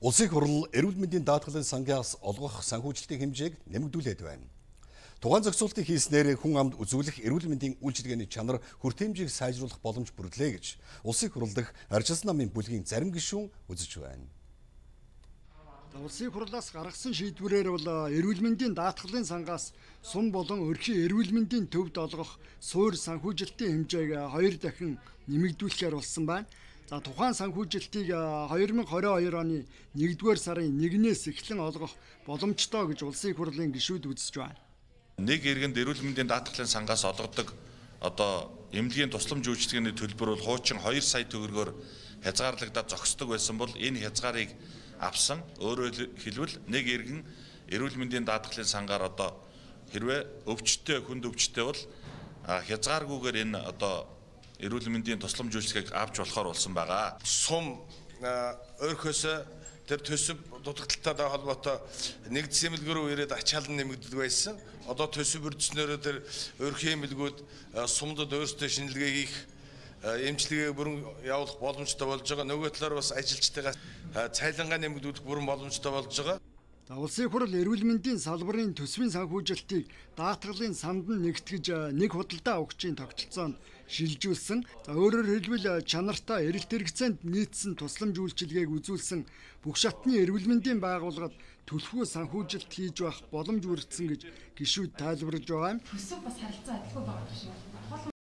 Улсын хурал эрүүл мэндийн даатгалын сангаас олгох санхүүжилтийн хэмжээг нэмэгдүүлээд байна. Тухайн зохицуултыг хийснээр хүн амд үзүүлэх эрүүл мэндийн үйлчилгээний чанар хүртээмжийг сайжруулах боломж бүрлээ гэж Улсын хурал дахь арчилсан намын бүлгийн зарим гишүүн үзэж байна. Улсын хурлаас гаргасан шийдвэрээр бол эрүүл мэндийн даатгалын сангаас сум болон өрхийн эрүүл мэндийн төвд олгох суур санхүүжилтийн хэмжээг 2 дахин нэмэгдүүлэхээр болсон байна. За тухайн санхүүжилтийг 2022 оны 1-р сарын 1-ээс эхлэн олгох боломжтой гэж Улсын хурлын гишүүд үзэж байна. Нэг иргэнд эрүүл мэндийн даатгалын сангаас олгодог эмнэлгийн тусламж үйлчилгээний төлбөр бол хуучин 2 сая төгрөгөөр хязгаарлагдаад зогсдог байсан бол энэ хязгаарыг авсан. Өөрөөр хэлбэл нэг иргэн эрүүл мэндийн даатгалын сангаар хэрвээ өвчтөе хүнд өвчтөе бол хязгааргүйгээр энэ эрүүл мэндийн тусламж үйлчилгээг авч болохоор болсон байгаа. Сум өөрхөөс тэр төсөв дутагдaltaй холбоотой нэгдсэн эмнэлэг рүү ирээд ачаалан нэмэгддэг байсан. Одоо төсөв бүрдснээр тэр өөрхийн эмнэлгүүд сумдад өөрсдөө шинжилгээ хийх эмчилгээ бүрэн явуулах боломжтой болж байгаа. Нөгөө талаар бас ажилчдаа цайлангаа нэмэгдүүлэх бүрэн боломжтой болж байгаа. Улсын хурал эрүүл мэндийн салбарын төсвийн санхүүжилтийг даатгалын санд нь нэгтгэж нэг худалдаа авахчийн тогтолцоонд шилжүүлсэн. Өөрөөр хэлбэл чанартай эрэлт хэрэгцээнд нийцсэн тусламж үйлчилгээг үзүүлсэн бүх шатны эрүүл мэндийн байгууллагад төлөвлөгөө санхүүжилт хийж байх боломж бүрдсэн гэж гишүүд тайлбарлаж байгаа юм. Төсөв бас харилцаа адилгүй байгаа шүү.